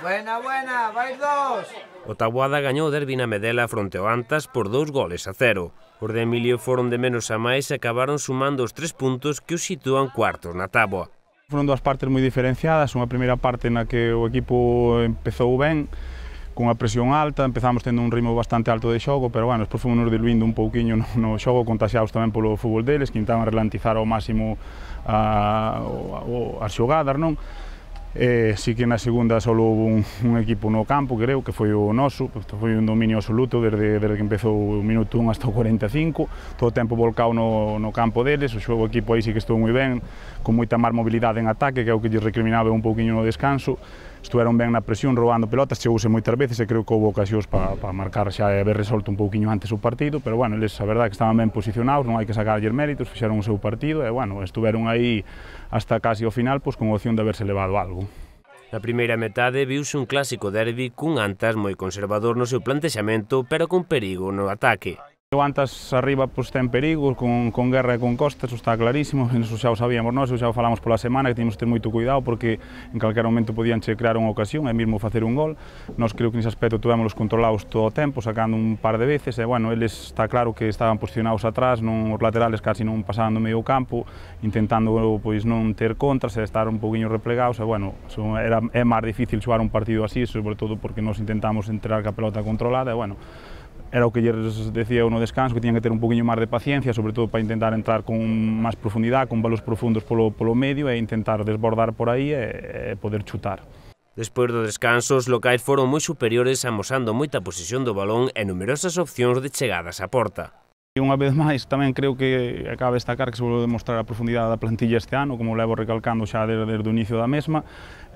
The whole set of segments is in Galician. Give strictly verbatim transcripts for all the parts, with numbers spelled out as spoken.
Buena, buena, vais dos. O Taboada gañou o derbi na Medela fronte ao Antas por dous goles a cero. Os de Emilio foron de menos a máis e acabaron sumando os tres puntos que os sitúan cuartos na táboa. Foron dúas partes moi diferenciadas, unha primeira parte na que o equipo empezou ben, con a presión alta, empezamos tendo un ritmo bastante alto de xogo, pero bueno, despois fomos diluindo un pouquiño no, no xogo, contaxiados tamén polo fútbol deles, que intentaban relantizar ao máximo a, a, as xogadas, non? Eh, si que na segunda só houve un, un equipo no campo, creo, que foi o noso, foi un dominio absoluto desde, desde que empezou o minuto un hasta o cuarenta e cinco, todo o tempo volcado no, no campo deles, o xogo equipo aí sí que estou moi ben, con moita máis mobilidade en ataque, que é o que lle recriminaba un pouquiño no descanso, estuveron ben na presión, roubando pelotas, chegouse moitas veces e creo que houve ocasións para pa marcar xa e haber resolto un pouquiño antes o partido, pero bueno, eles a verdade que estaban ben posicionados, non hai que sacarlles méritos, fixeron o seu partido e bueno, estuveron aí hasta casi ao final, pois con opción de haberse levado algo. Na primeira metade viuse un clásico derbi cun Antas moi conservador no seu plantexamento, pero con perigo no ataque. O Antas arriba pois, ten perigo, con, con Guerra e con Costa, eso está clarísimo, eso xa o sabíamos nós, xa o falamos pola semana, que temos que ter moito cuidado porque en calquera momento podían che crear unha ocasión e mesmo facer un gol. Nós creo que nese aspecto tuvémoslos controlados todo o tempo, sacando un par de veces, e bueno, eles está claro que estaban posicionados atrás, non, os laterales casi non pasaban do medio campo, intentando pois non ter contras e estar un poquinho replegados, e bueno, era, é máis difícil xogar un partido así, sobre todo porque nos intentamos entrar ca pelota controlada, e bueno, era o que lles decía no descanso, que tiñan que ter un poquinho máis de paciencia, sobre todo para intentar entrar con máis profundidade, con balos profundos polo, polo medio e intentar desbordar por aí e, e poder chutar. Despois do descanso, os locais foron moi superiores, amosando moita posesión do balón e numerosas opcións de chegadas á porta. E unha vez máis, tamén creo que acaba de destacar que se volve a demostrar a profundidade da plantilla este ano, como levo recalcando xa desde, desde o inicio da mesma.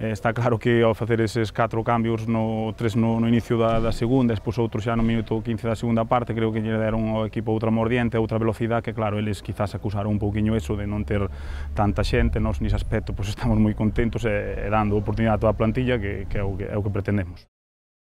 Eh, está claro que ao facer eses catro cambios, no, tres no, no inicio da, da segunda, despois outros xa no minuto quince da segunda parte, creo que lle deron ao equipo outra mordiente, outra velocidade, que claro, eles quizás acusaron un pouquiño eso de non ter tanta xente, nós nese aspecto pois, estamos moi contentos e, e dando oportunidade a toda a plantilla, que, que, é o que, é o que pretendemos.